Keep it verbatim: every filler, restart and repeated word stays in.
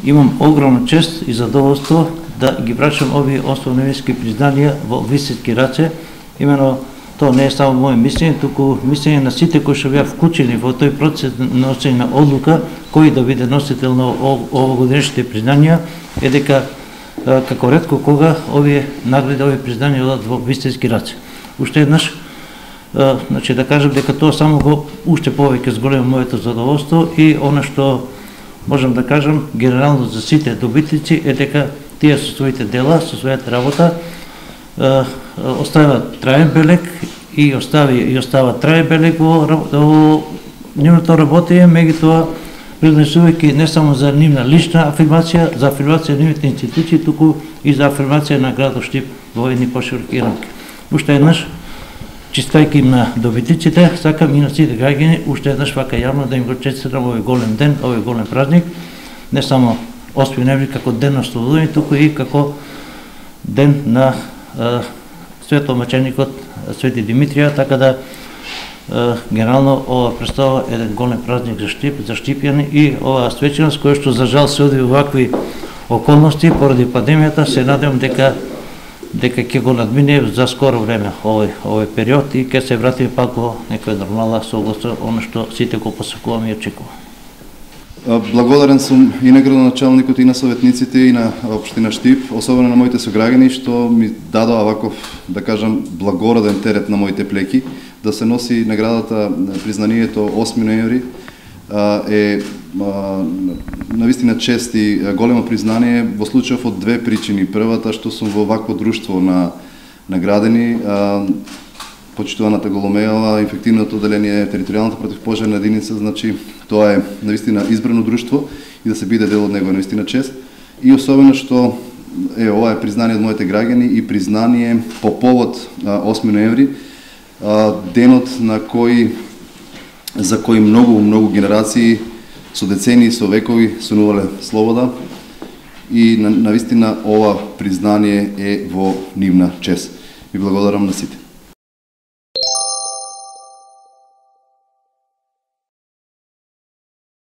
имам огромна чест и задоволство да ги врачам овие основневински признанија во високи раце. Имено тоа не е само моје мислење, туку мислење на сите кои што беа вклучени во тој процес на носење на одлука кој да биде носител на овогодишните признанија, е дека како ретко кога овие награди, овие признанија одат во вистински раце. Уште еднаш, значи да кажам дека тоа само го уште повеќе зголема моето задоволство и она што можам да кажам генерално за сите добитници е дека тие со своите дела, со својата работа оставаат траен белег и остави и остава траен белег во, во нивното работење, меѓутоа пренесувајќи не само за нивна лична афирмација, за афирмација на нивните институции, туку и за афирмација на градот Штип во едни пошироки рамки. Уште еднаш, честитајќи им на добитниците, сакам и на сите граѓани уште еднаш вака јавно да им го честитам овој голем ден, овој голем празник, не само осми ноември како ден на ослободување, туку и како ден на светомаченикот Свети Димитрија, така да генерално ова представа еден голем празник за Штип, за штипјани и оваа свеченост која што за жал се оди во вакви околности поради пандемијата, се надевам дека дека ќе го надмине за скоро време овој овој период и ќе се вратиме пак во некоја нормала согласно она што сите го посакуваме и очекуваме. Благодарен сум и на градоначалникот и на советниците и на општина Штип, особено на моите сограѓани што ми дадоа ваков, да кажам, благороден терет на моите плеки, да се носи наградата, признанието осми ноември е навистина чест и големо признание во случајов од две причини. Првата, што сум во вакво друштво на наградени, почитуваната Голомејава, инфективното одделение, територијалната противпожарна единица, значи тоа е навистина избрано друштво и да се биде дел од него е навистина чест. И особено што е ова е признание од моите граѓани и признание по повод осми ноември, денот на кој за кој многу многу генерации со децени, со векови сонувале слобода и навистина ова признание е во нивна чест. Ви благодарам на сите.